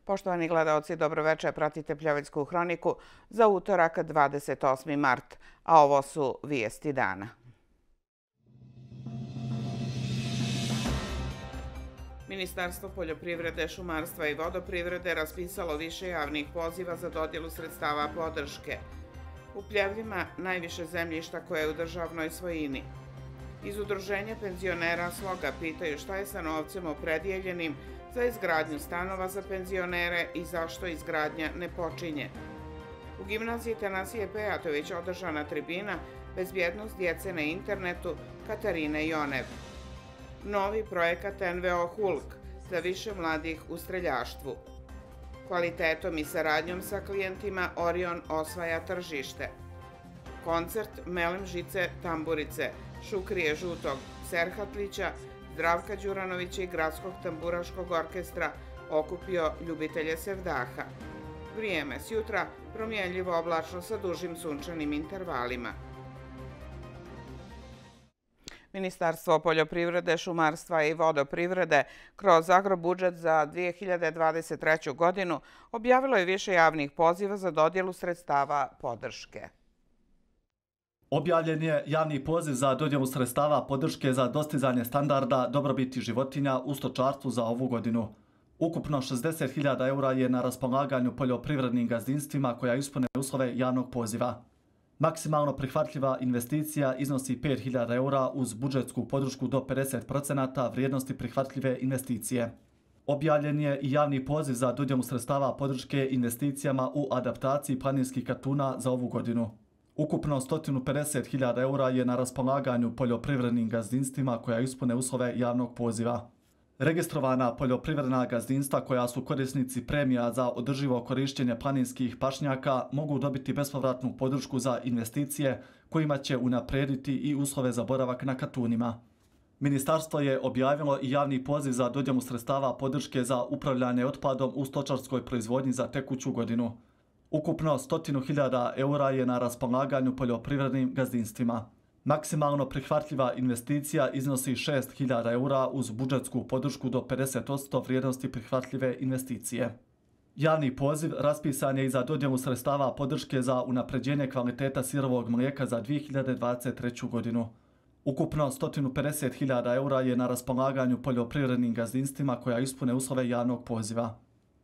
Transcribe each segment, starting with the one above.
Poštovani gledaoci, dobroveče, pratite Pljevičku hroniku za utorak 28. mart, a ovo su vijesti dana. Ministarstvo poljoprivrede, šumarstva i vodoprivrede raspisalo više javnih poziva za dodjelu sredstava podrške. U Pljevljima najviše zemljišta koje je u državnoj svojini. Iz Udruženja penzionera Sloga pitaju šta je sa novcem opredijeljenim za izgradnju stanova za penzionere i zašto izgradnja ne počinje. U gimnaziji Tanasije Pejatović održana tribina Bezbjednost djece na internetu Katarine Jonev. Novi projekat NVO Hulk za više mladih u streljaštvu. Kvalitetom i saradnjom sa klijentima Orion osvaja tržište. Koncert Melem Žice Tamburice, Šukrije Žutog, Serhatlića, Zdravka Đuranovića i Gradskog tamburaškog orkestra okupio ljubitelje sevdaha. Vrijeme s jutra promjenljivo oblačno sa dužim sunčanim intervalima. Ministarstvo poljoprivrede, šumarstva i vodoprivrede kroz agrobudžet za 2023. godinu objavilo je više javnih poziva za dodjelu sredstava podrške. Objavljen je javni poziv za dodjelu sredstava podrške za dostizanje standarda dobrobiti životinja u stočarstvu za ovu godinu. Ukupno 60.000 eura je na raspolaganju poljoprivrednim gazdinstvima koja ispune uslove javnog poziva. Maksimalno prihvatljiva investicija iznosi 5.000 eura uz budžetsku podršku do 50% vrijednosti prihvatljive investicije. Objavljen je i javni poziv za dodjelu sredstava podrške investicijama u adaptaciji planinskih katuna za ovu godinu. Ukupno 150.000 eura je na raspolaganju poljoprivrednim gazdinstvima koja ispune uslove javnog poziva. Registrovana poljoprivredna gazdinstva koja su korisnici premija za održivo korištenje planinskih pašnjaka mogu dobiti bespovratnu podršku za investicije kojima će unaprijediti i uslove za boravak na katunima. Ministarstvo je objavilo i javni poziv za dodjelu sredstava podrške za upravljanje otpadom u stočarskoj proizvodnji za tekuću godinu. Ukupno 100.000 eura je na raspolaganju poljoprivrednim gazdinstvima. Maksimalno prihvatljiva investicija iznosi 6.000 eura uz budžetsku podršku do 50% vrijednosti prihvatljive investicije. Javni poziv raspisan je i za dodjelu sredstava podrške za unapređenje kvaliteta sirovog mlijeka za 2023. godinu. Ukupno 150.000 eura je na raspolaganju poljoprivrednim gazdinstvima koja ispune uslove javnog poziva.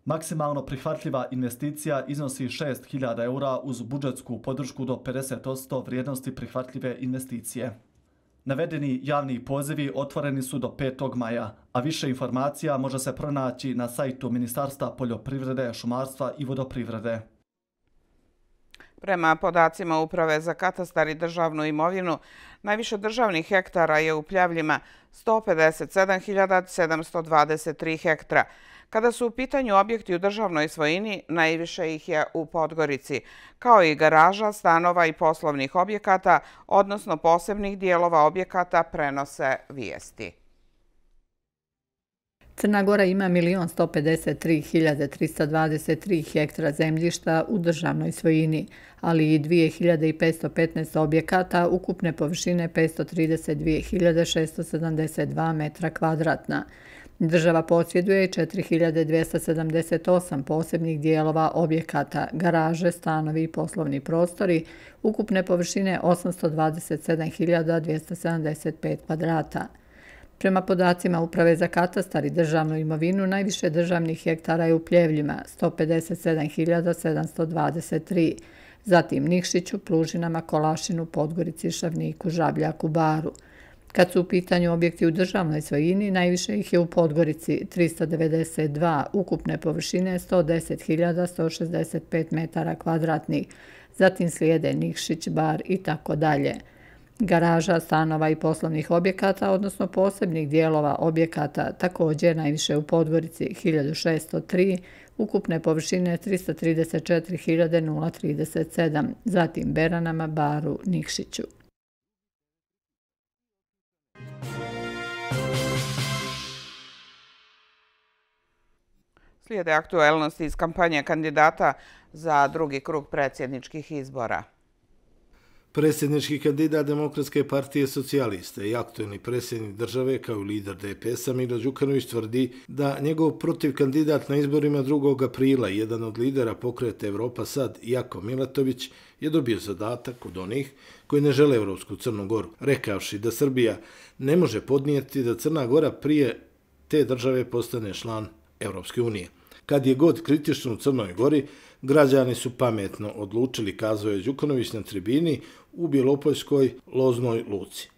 Maksimalno prihvatljiva investicija iznosi 6.000 eura uz budžetsku podršku do 50% vrijednosti prihvatljive investicije. Navedeni javni pozivi otvoreni su do 5. maja, a više informacija može se pronaći na sajtu Ministarstva poljoprivrede, šumarstva i vodoprivrede. Prema podacima Uprave za katastar i državnu imovinu, najviše državnih hektara je u Pljevljima 157.723 hektara. Kada su u pitanju objekti u državnoj svojini, najviše ih je u Podgorici, kao i garaža, stanova i poslovnih objekata, odnosno posebnih dijelova objekata, prenose vijesti. Crna Gora ima 1.153.323 hektara zemljišta u državnoj svojini, ali i 2.515 objekata ukupne površine 532.672 metra kvadratna. Država posjeduje 4.278 posebnih dijelova objekata, garaže, stanovi i poslovni prostori, ukupne površine 827.275 kvadrata. Prema podacima Uprave za katastar i državnu imovinu, najviše državnih hektara je u Pljevljima, 157.723, zatim Nikšiću, Plužinama, Kolašinu, Podgorici, Šavniku, Žabljaku, Baru. Kad su u pitanju objekti u državnoj svojini, najviše ih je u Podgorici 392, ukupne površine 110.165 metara kvadratnih, zatim slijede Nikšić, Bar i tako dalje. Garaža, stanova i poslovnih objekata, odnosno posebnih dijelova objekata, također najviše u Podgorici 1.603, ukupne površine 334.037, zatim Beranama, Baru, Nikšiću. Slijede aktuelnosti iz kampanje kandidata za drugi krug predsjedničkih izbora. Predsjednički kandidat Demokratske partije socijaliste i aktuelni predsjednik države kao i lider DPS-a Milo Đukanović tvrdi da njegov protiv kandidat na izborima 2. aprila, jedan od lidera pokreta Evropa Sad, Jako Milatović, je dobio zadatak od onih koji ne žele Evropsku Crnu Goru, rekavši da Srbija ne može podnijeti da Crna Gora prije te države postane član Evropske unije. Kad je god kritično u Crnoj Gori, građani su pametno odlučili, kazao je Đukanović na tribini u Bjelopoljskoj Loznoj luci.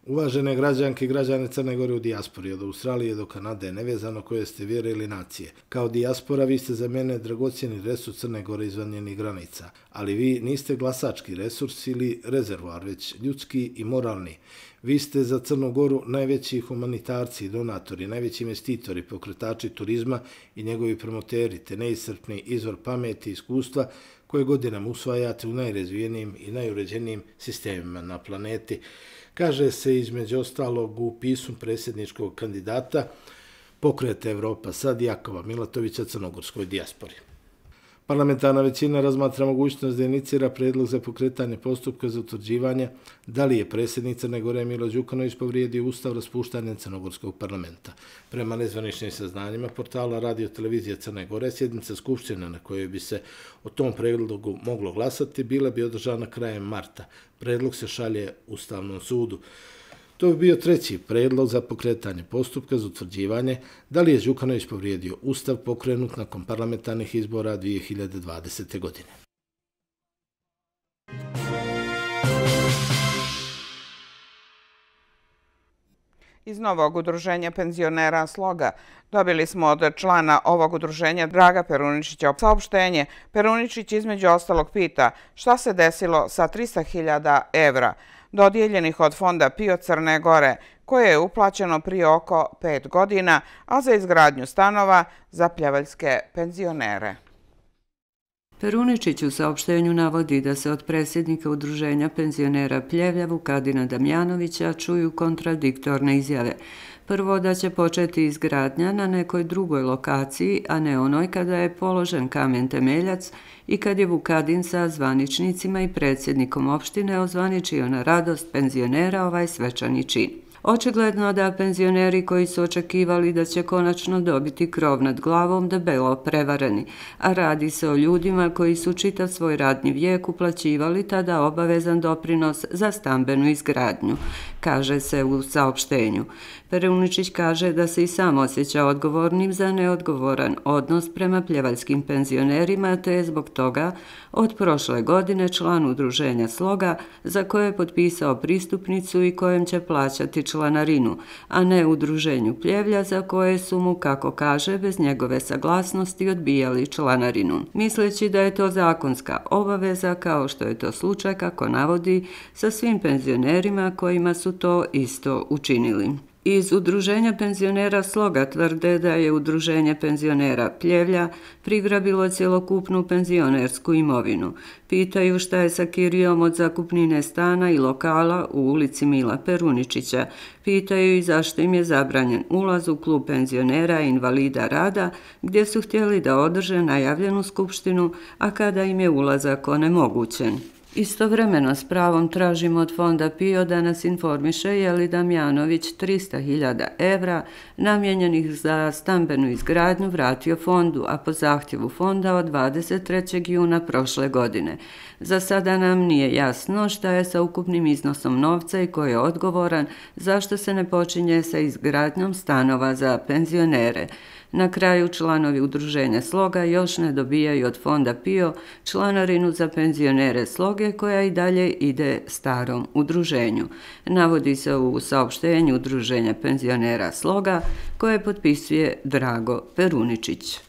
Uvažene građanke i građane Crne Gore u dijaspori, od Australije do Kanade, nevezano koje ste vjere ili nacije. Kao dijaspora vi ste za mene dragocjeni resurs Crne Gore izvan njenih granica, ali vi niste glasački resurs ili rezervoar, već ljudski i moralni. Vi ste za Crnu Goru najveći humanitarci, donatori, najveći investitori, pokretači turizma i njegovi promoteri, te neiscrpni izvor pameti i iskustva koje godinama usvajate u najrazvijenijim i najuređenijim sistemima na planeti. Kaže se između ostalog u pismu predsjedničkog kandidata pokreta Evropa Sad Jakova Milatovića crnogorskoj dijaspori. Parlamentarna većina razmatra mogućnost da inicira predlog za pokretanje postupka za utvrđivanje da li je predsjednik Crne Gore Milo Đukanović povrijedio ustav raspuštanjem Crnogorskog parlamenta. Prema nezvaničnim saznanjima portala Radio Televizije Crne Gore, sjednica skupštine na kojoj bi se o tom predlogu moglo glasati bila bi održana krajem marta. Predlog se šalje Ustavnom sudu. To bi bio treći predlog za pokretanje postupka za utvrđivanje da li je Đukanović povrijedio ustav pokrenut nakon parlamentarnih izbora 2020. godine. Iz novog udruženja penzionera Sloga dobili smo od člana ovog udruženja Draga Peruničića saopštenje. Peruničić između ostalog pita šta se desilo sa 300.000 evra dodijeljenih od fonda PIO Crne Gore, koje je uplaćeno prije oko 5 godina, a za izgradnju stanova za pljevaljske penzionere. Peruničić u saopštenju navodi da se od predsjednika udruženja penzionera Pljevlja Vukadina Damjanovića čuju kontradiktorne izjave. Prvo da će početi izgradnja na nekoj drugoj lokaciji, a ne onoj kada je položen kamen temeljac i kad je Vukadin sa zvaničnicima i predsjednikom opštine ozvaničio na radost penzionera ovaj svečani čin. Očigledno da penzioneri koji su očekivali da će konačno dobiti krov nad glavom debelo prevareni, a radi se o ljudima koji su čitav svoj radni vijek uplaćivali tada obavezan doprinos za stambenu izgradnju, kaže se u saopštenju. Peruničić kaže da se i sam osjeća odgovornim za neodgovoran odnos prema pljevaljskim penzionerima, te je zbog toga od prošle godine član udruženja Sloga za koje je potpisao pristupnicu i kojem će plaćati članarinu, a ne udruženju Pljevlja za koje su mu, kako kaže, bez njegove saglasnosti odbijali članarinu. Misleći da je to zakonska obaveza, kao što je to slučaj, kako navodi, sa svim penzionerima kojima su to isto učinili. Iz udruženja penzionera Sloga tvrde da je udruženje penzionera Pljevlja prigrabilo cjelokupnu penzionersku imovinu. Pitaju šta je sa kirijom od zakupnine stana i lokala u ulici Mila Peruničića. Pitaju i zašto im je zabranjen ulaz u klub penzionera i invalida rada, gdje su htjeli da održe najavljenu skupštinu, a kada im je ulazak onemogućen. Istovremeno s pravom tražimo od fonda PIO da nas informiše je li Damjanović 300.000 evra namijenjenih za stambenu izgradnju vratio fondu, a po zahtjevu fonda od 23. juna prošle godine. Za sada nam nije jasno šta je sa ukupnim iznosom novca i ko je odgovoran, zašto se ne počinje sa izgradnjom stanova za penzionere. Na kraju članovi udruženja Sloga još ne dobijaju od fonda PIO članarinu za penzionere Sloge koja i dalje ide starom udruženju. Navodi se u saopštenju udruženja penzionera Sloga koje potpisuje Drago Peruničić.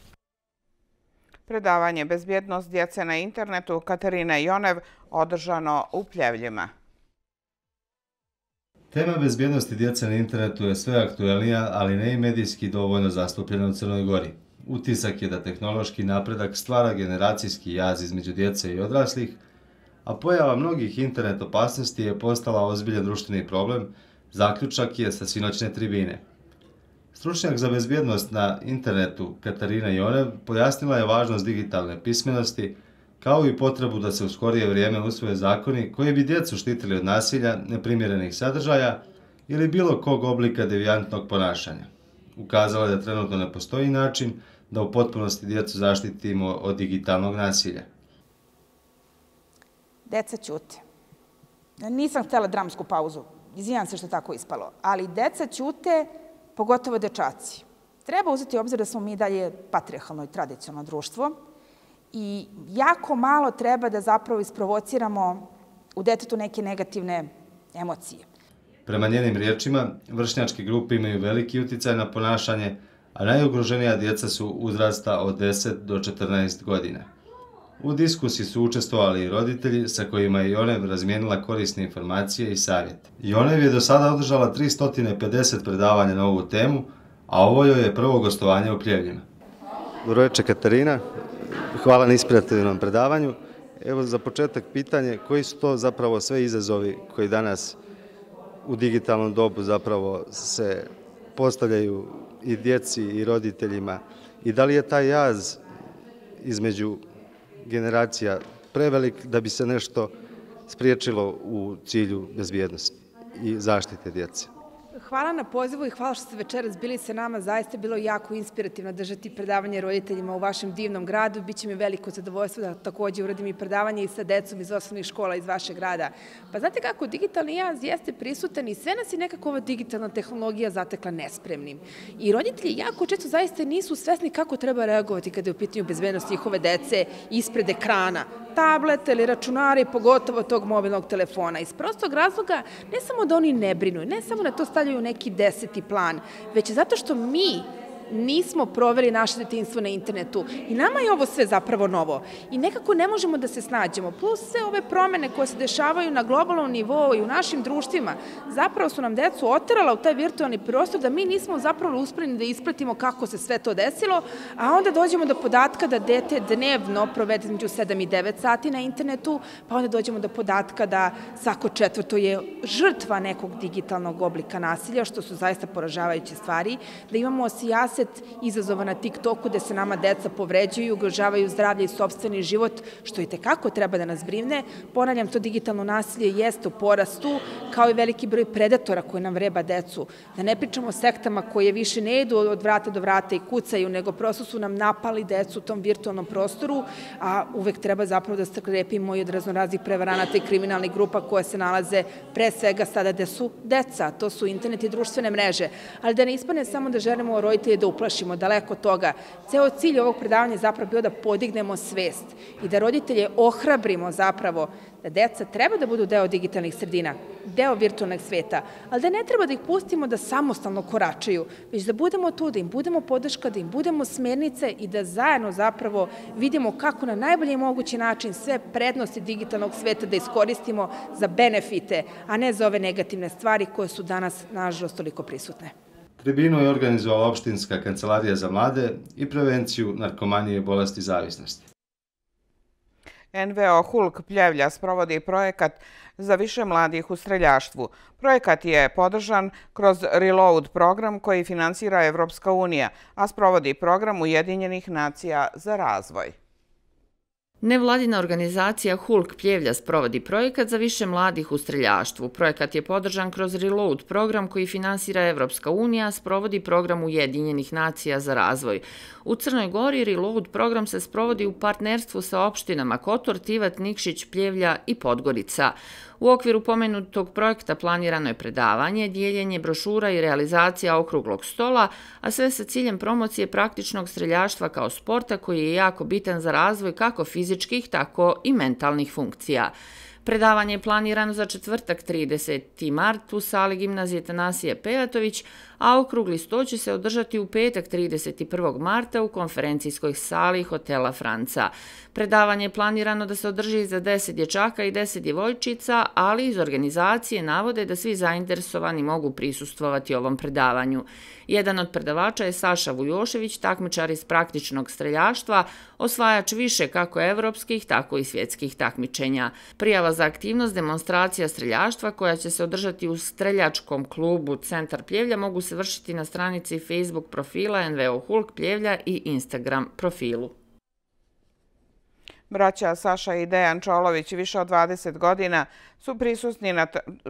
Predavanje Bezbjednost djece na internetu Katarine Jonev održano u Pljevljima. Tema bezbjednosti djece na internetu je sve aktuelnija, ali ne i medijski dovoljno zastupljena u Crnoj Gori. Utisak je da tehnološki napredak stvara generacijski jaz između djece i odraslih, a pojava mnogih internet opasnosti je postala ozbiljan društveni problem, zaključak je sa sinoćne tribine. Stručnjak za bezbjednost na internetu Katarina Jonev pojasnila je važnost digitalne pismenosti kao i potrebu da se u skorije vrijeme usvoje zakoni koji bi djecu štitili od nasilja, neprimjerenih sadržaja ili bilo kog oblika devijantnog ponašanja. Ukazala je da trenutno ne postoji način da u potpunosti djecu zaštitimo od digitalnog nasilja. Deca ćute. Nisam htjela dramsku pauzu, izvinjam se što je tako ispalo, ali deca ćute, pogotovo dečaci. Treba uzeti u obzir da smo mi dalje patrijarhalno i tradicionalno društvo i jako malo treba da zapravo isprovociramo u detetu neke negativne emocije. Prema njenim riječima, vršnjačke grupe imaju veliki uticaj na ponašanje, a najugroženija djeca su uzrasta od 10 do 14 godina. U diskusiji su učestvovali i roditelji sa kojima je Jonev razmijenila korisne informacije i savjete. Jonev je do sada održala 350 predavanja na ovu temu, a ovo joj je prvo gostovanje u Pljevljima. Dobro večer, Katarina. Hvala na inspirativnom predavanju. Evo za početak pitanje, koji su to zapravo sve izazovi koji danas u digitalnom dobu zapravo se postavljaju i djeci i roditeljima i da li je taj jaz između generacija prevelik da bi se nešto spriječilo u cilju bezbjednosti i zaštite djece? Hvala na pozivu i hvala što ste večeras bili sa nama. Zaista je bilo jako inspirativno držati predavanje roditeljima u vašem divnom gradu. Biće mi veliko zadovoljstvo da također uradim i predavanje i sa decom iz osnovnih škola iz vašeg grada. Pa znate kako, digitalni jaz jeste prisutan i sve nas je nekako ova digitalna tehnologija zatekla nespremnim. I roditelji jako često zaista nisu svesni kako treba reagovati kada je u pitanju bezbednost njihove dece ispred ekrana, tableta ili računara i pogotovo tog mobilnog telefona. Iz prostog razloga ne samo da oni ne brinu, ne samo da to stavljaju u neki 10. plan, već zato što mi nismo proveli naše detinjstvo na internetu i nama je ovo sve zapravo novo i nekako ne možemo da se snađemo. Plus sve ove promene koje se dešavaju na globalnom nivou i u našim društvima zapravo su nam decu oterala u taj virtualni prostor da mi nismo zapravo uspjeli da ispratimo kako se sve to desilo, a onda dođemo do podatka da dete dnevno provede između 7 i 9 sati na internetu, pa onda dođemo do podatka da svako četvrto je žrtva nekog digitalnog oblika nasilja, što su zaista poražavajuće stvari, da imamo sijaset izazova na TikToku gde se nama deca povređuju, ugrožavaju zdravlje i sopstveni život, što i tekako treba da nas brine. Ponavljam, to digitalno nasilje jeste u porastu, kao i veliki broj predatora koji nam vreba decu. Da ne pričamo o sektama koje više ne idu od vrata do vrata i kucaju, nego prosto su nam napali decu u tom virtualnom prostoru, a uvek treba zapravo da se krepimo i od raznoraznih prevaranata i kriminalnih grupa koje se nalaze pre svega sada gde su deca, to su internet i društvene mreže. Ali da ne ispane samo da želimo roditelje da uplašimo, daleko od toga. Ceo cilj ovog predavanja je zapravo bio da podignemo svest i da roditelje ohrabrimo zapravo da deca treba da budu deo digitalnih sredina, deo virtualnog sveta, ali da ne treba da ih pustimo da samostalno koračaju, već da budemo tu, da im budemo podrška, da im budemo smernice i da zajedno zapravo vidimo kako na najbolji mogući način sve prednosti digitalnog sveta da iskoristimo za benefite, a ne za ove negativne stvari koje su danas, nažalost, toliko prisutne. Tribinu je organizovala opštinska kancelarija za mlade i prevenciju narkomanije i bolesti zavisnosti. NVO Hulk Pljevlja sprovodi projekat za više mladih u streljaštvu. Projekat je podržan kroz Reload program koji finansira Evropska unija, a sprovodi program Ujedinjenih nacija za razvoj. Nevladina organizacija Hulk Pljevlja sprovodi projekat za više mladih u streljaštvu. Projekat je podržan kroz Reload program koji finansira Evropska unija, sprovodi program Ujedinjenih nacija za razvoj. U Crnoj Gori Reload program se sprovodi u partnerstvu sa opštinama Kotor, Tivat, Nikšić, Pljevlja i Podgorica. U okviru pomenutog projekta planirano je predavanje, dijeljenje brošura i realizacija okruglog stola, a sve sa ciljem promocije praktičnog streljaštva kao sporta koji je jako bitan za razvoj kako fizičkih, tako i mentalnih funkcija. Predavanje je planirano za četvrtak 30. mart u sali gimnazije Tanasije Pejatović, a okrugli sto će se održati u petak 31. marta u konferencijskoj sali hotela Franca. Predavanje je planirano da se održi za 10 dječaka i 10 djevojčica, ali iz organizacije navode da svi zainteresovani mogu prisustvovati ovom predavanju. Jedan od predavača je Saša Vujošević, takmičar iz praktičnog streljaštva, osvajač više kako evropskih, tako i svjetskih takmičenja. Prijava za aktivnost demonstracija streljaštva koja će se održati u streljačkom klubu Centar Pljevlja mogu se vršiti na stranici Facebook profila NVO Hulk Pljevlja i Instagram profilu. Braća Saša i Dejan Čolović više od 20 godina su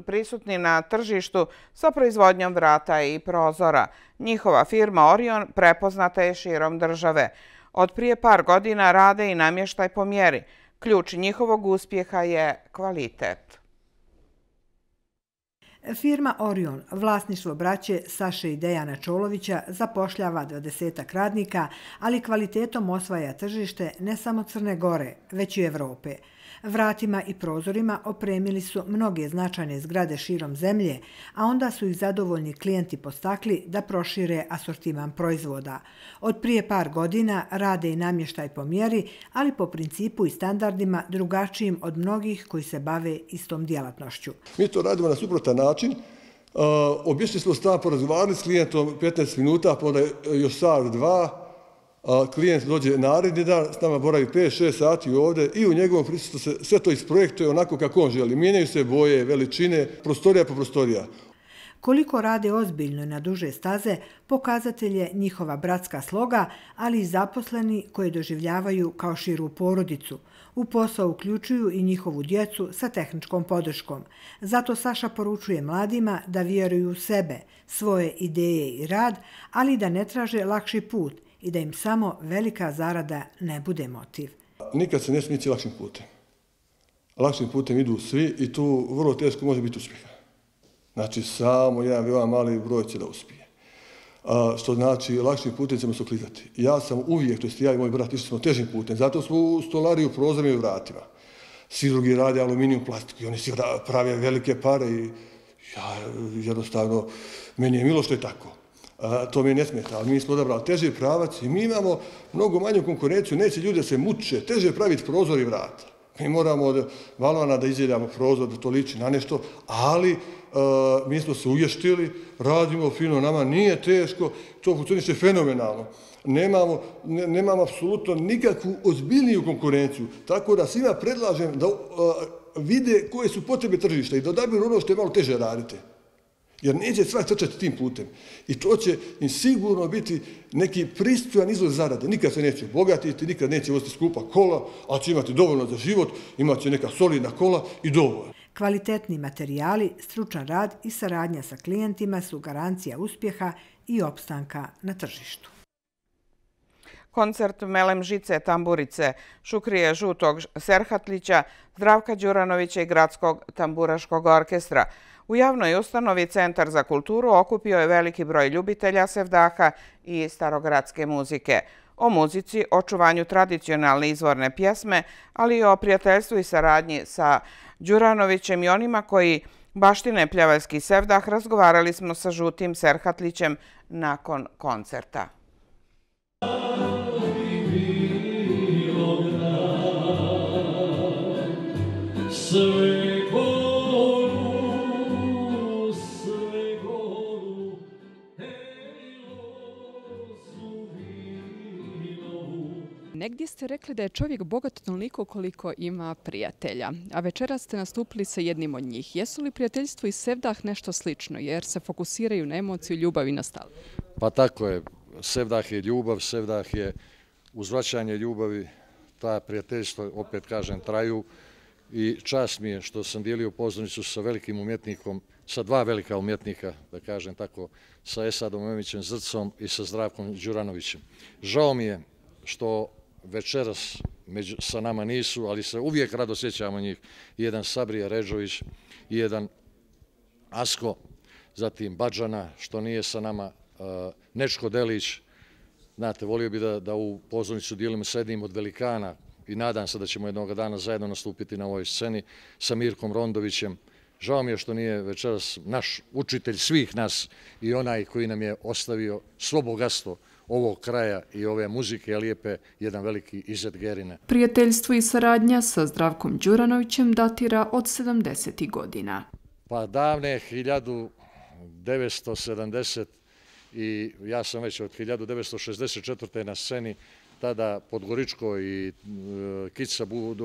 prisutni na tržištu sa proizvodnjom vrata i prozora. Njihova firma Orion prepoznata je širom države. Od prije par godina rade i namještaj po mjeri. Ključ njihovog uspjeha je kvalitet. Firma Orion, vlasništvo braće Saše i Dejana Čolovića, zapošljava 20 radnika, ali kvalitetom osvaja tržište ne samo Crne Gore, već i Evrope. Vratima i prozorima opremili su mnoge značajne zgrade širom zemlje, a onda su ih zadovoljni klijenti postakli da prošire asortiman proizvoda. Od prije par godina rade i namještaj po mjeri, ali po principu i standardima drugačijim od mnogih koji se bave istom djelatnošću. Mi to radimo na suprotan način. Obišli smo stan, porazgovarali s klijentom 15 minuta, pa onda još sat, dva. Klijent dođe naredni dan, s nama boravi 5-6 sati ovdje i u njegovom prisustvu se sve to isprojektuje onako kako on želi. Mijenjaju se boje, veličine, prostorija po prostorija. Koliko rade ozbiljno na duže staze, pokazatelj je njihova bratska sloga, ali i zaposleni koje doživljavaju kao širu porodicu. U posao uključuju i njihovu djecu sa tehničkom podrškom. Zato Saša poručuje mladima da vjeruju u sebe, svoje ideje i rad, ali da ne traže lakši put i da im samo velika zarada ne bude motiv. Nikad se ne smije ići lakšim putem. Lakšim putem idu svi i tu vrlo teško može biti uspjeha. Znači, samo jedan veoma mali broj će da uspije. Što znači, lakšim putem ćemo se oklizati. Ja sam uvijek, to jest ja i moj brat, išli smo težim putem. Zato smo u stolariju, prozorima i vratima. Svi drugi rade aluminijum, plastiku i oni svi prave velike pare i ja jednostavno, meni je milo što je tako. To mi ne smeta, ali mi smo odabrali teži pravac i mi imamo mnogo manju konkurenciju, neće ljudi da se muče, teže praviti prozor i vrata. Mi moramo od balvana da izjeljamo prozor, da to liči na nešto, ali mi smo se uvještili, radimo fino, nama nije teško, to funkcioniše fenomenalno. Nemamo apsolutno nikakvu ozbiljniju konkurenciju, tako da svima predlažem da vide koje su potrebe tržišta i da odabiru ono što je malo teže radite. Jer neće svak trčati tim putem. I to će im sigurno biti neki pristojan izvor zarade. Nikad se neće obogatiti, nikad neće voziti skupa kola, ali će imati dovoljno za život, imat će neka solidna kola i dovoljno. Kvalitetni materijali, stručan rad i saradnja sa klijentima su garancija uspjeha i opstanka na tržištu. Koncert Melem Žice Tamburice, Šukrije Žutog Serhatlića, Zdravka Đuranovića i Gradskog tamburaškog orkestra u javnoj ustanovi Centar za kulturu okupio je veliki broj ljubitelja sevdaha i starogradske muzike. O muzici, očuvanju tradicionalne izvorne pjesme, ali i o prijateljstvu i saradnji sa Đuranovićem i onima koji baštine pljevaljski sevdah razgovarali smo sa Žutim Serhatlićem nakon koncerta. Negdje ste rekli da je čovjek bogat toliko koliko ima prijatelja, a večeras ste nastupili sa jednim od njih. Jesu li prijateljstvo i sevdah nešto slično, jer se fokusiraju na emociju, ljubav i nostalgiju? Pa tako je. Sevdah je ljubav, sevdah je uzvraćanje ljubavi, ta prijateljstva, opet kažem, traju i čast mi je što sam dijelio pozornicu sa velikim umjetnikom, sa dva velika umjetnika, da kažem tako, sa Esadom Memićem Zrcom i sa Zdravkom Đuranovićem. Žao mi je što večeras sa nama nisu, ali se uvijek rado sjećamo njih. Jedan Sabrija Ređović i jedan Asko, zatim Badžana, što nije sa nama, Nečko Delić. Znate, volio bi da u pozornicu dijelimo sa jednim od velikana i nadam se da ćemo jednog dana zajedno nastupiti na ovoj sceni sa Mirkom Rondovićem. Žao mi je što nije večeras naš učitelj svih nas i onaj koji nam je ostavio svo bogatstvo ovog kraja i ove muzike lijepe, jedan veliki Izet Gerine. Prijateljstvo i saradnja sa Zdravkom Đuranovićem datira od 70. godina. Pa davne 1970 i ja sam već od 1964. na sceni, tada Podgoričko i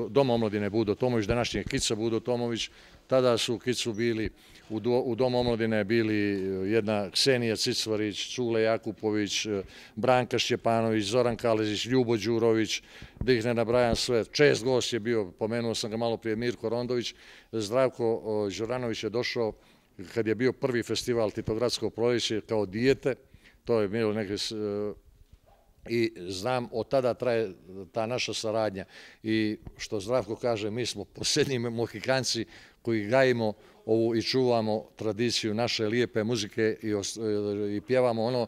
Dom omladine Budo Tomović, današnji Kica Budo Tomović. Tada su u Kicu bili, u Domu omladine bili jedna Ksenija Cicvarić, Cule Jakupović, Branka Šćepanović, Zoran Kalezić, Ljubo Đurović, da ih ne nabrajam sve. Čest gost je bio, pomenuo sam ga malo prije, Mirko Rondović. Zdravko Đuranović je došao kad je bio prvi festival Titogradsko proljeće kao dijete. To je bilo neke... I znam, od tada traje ta naša saradnja. I što Zdravko kaže, mi smo posljednji Mohikanci koji gajimo ovu i čuvamo tradiciju naše lijepe muzike i pjevamo ono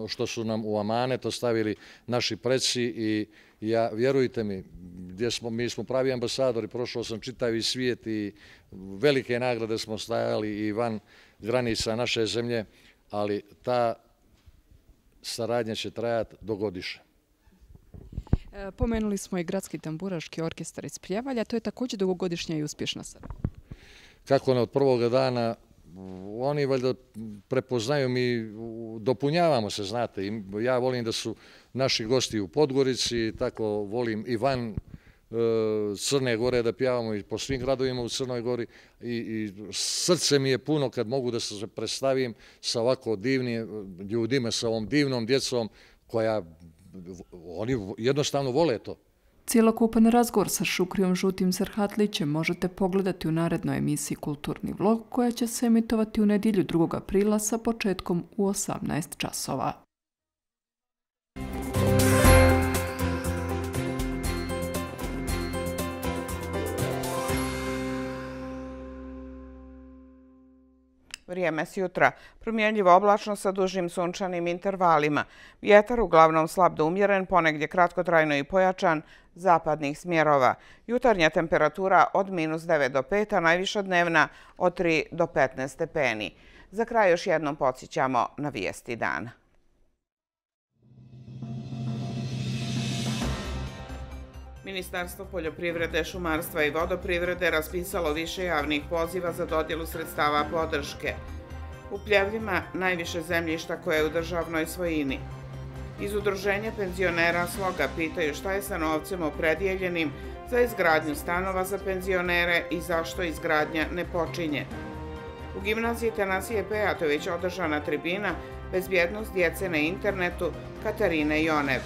što su nam u amanet ostavili naši preci. I vjerujte mi, mi smo pravi ambasadori, prošao sam čitavi svijet i velike nagrade smo stajali i van granica naše zemlje, ali ta saradnja će trajati do godišnje. Pomenuli smo i Gradski tamburaški orkestar iz Pljevalja, to je također dugogodišnja i uspješna saradnja. Kako od prvoga dana, oni valjda prepoznaju, mi dopunjavamo se, znate. Ja volim da su naši gosti u Podgorici, tako volim i van Crne Gore da pjevamo i po svim gradovima u Crnoj Gori i srce mi je puno kad mogu da se predstavim sa ovako divnim ljudima, sa ovom divnom djecom koja oni jednostavno vole to. Cijelokupan razgovor sa Šukrijom Žutim Serhatlićem možete pogledati u narednoj emisiji Kulturni vlog koja će se emitovati u nedjelju 2. aprila sa početkom u 18 časova. Vrijeme s jutra. Promjenljivo oblačno sa dužim sunčanim intervalima. Vjetar uglavnom slab do umjeren, ponegdje kratkotrajno i pojačan, zapadnih smjerova. Jutarnja temperatura od -9 do 5, a najviša dnevna od 3 do 15 stepeni. Za kraj još jednom podsjećamo na vijesti dana. Ministarstvo poljoprivrede, šumarstva i vodoprivrede raspisalo više javnih poziva za dodjelu sredstava podrške. U Pljevljima najviše zemljišta koje je u državnoj svojini. Iz Udruženja penzionera Sloga pitaju šta je sa novcem opredijeljenim za izgradnju stanova za penzionere i zašto izgradnja ne počinje. U gimnaziji Tanasije Pejatović održana tribina Bezbjednost djece na internetu Katarine Jonev.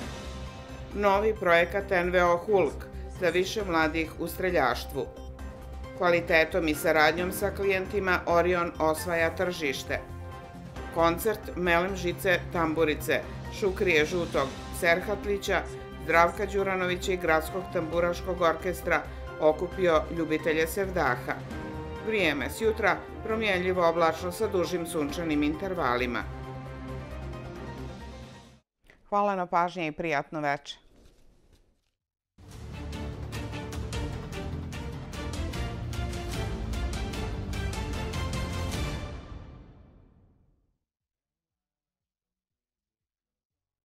Novi projekat NVO Hulk za više mladih u streljaštvu. Kvalitetom i saradnjom sa klijentima Orion osvaja tržište. Koncert Melem Žice Tamburice, Šukrije Žutog Serhatlića, Zdravka Đuranovića i Gradskog tamburaškog orkestra okupio ljubitelje sevdaha. Vrijeme s jutra promjenljivo oblačno sa dužim sunčanim intervalima. Hvala na pažnji i prijatno večer.